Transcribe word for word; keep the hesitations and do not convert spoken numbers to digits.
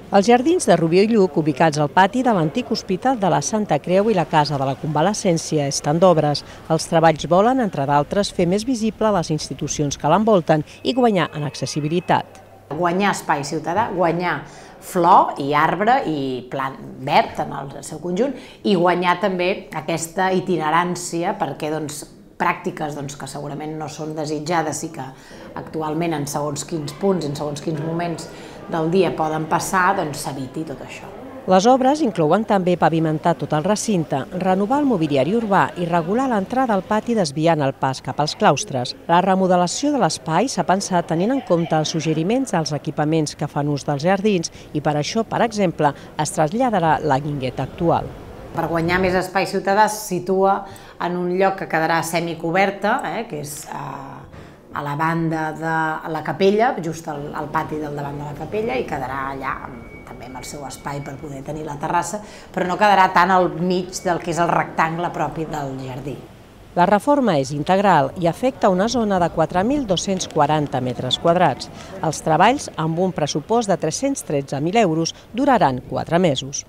Els jardins de Rubió i Lluc, ubicats al pati de l'antic Hospital de la Santa Creu i la Casa de la Convalescència, estan d'obres. Els treballs volen, entre d'altres, fer més visible les institucions que l'envolten i guanyar en accessibilitat. Guanyar espai ciutadà, guanyar flor i arbre i plant verd en el seu conjunt i guanyar també aquesta itinerància perquè doncs, pràctiques doncs, que segurament no són desitjades i que actualment en segons quins punts, en segons quins moments del dia poden passar, doncs s'eviti tot això. Les obres inclouen també pavimentar tot el recinte, renovar el mobiliari urbà i regular l'entrada al pati desviant el pas cap als claustres. La remodelació de l'espai s'ha pensat tenint en compte els suggeriments dels equipaments que fan ús dels jardins i per això, per exemple, es traslladarà la guingueta actual. Per guanyar més espai ciutadà es situa en un lloc que quedarà semicoberta, eh, que és a, a la banda de la capella, just al, al pati del davant de la capella, i quedarà allà també amb el seu espai per poder tenir la terrassa, però no quedarà tant al mig del que és el rectangle propi del jardí. La reforma és integral i afecta una zona de quatre mil dos-cents quaranta metres quadrats. Els treballs, amb un pressupost de tres-cents tretze mil euros, duraran quatre mesos.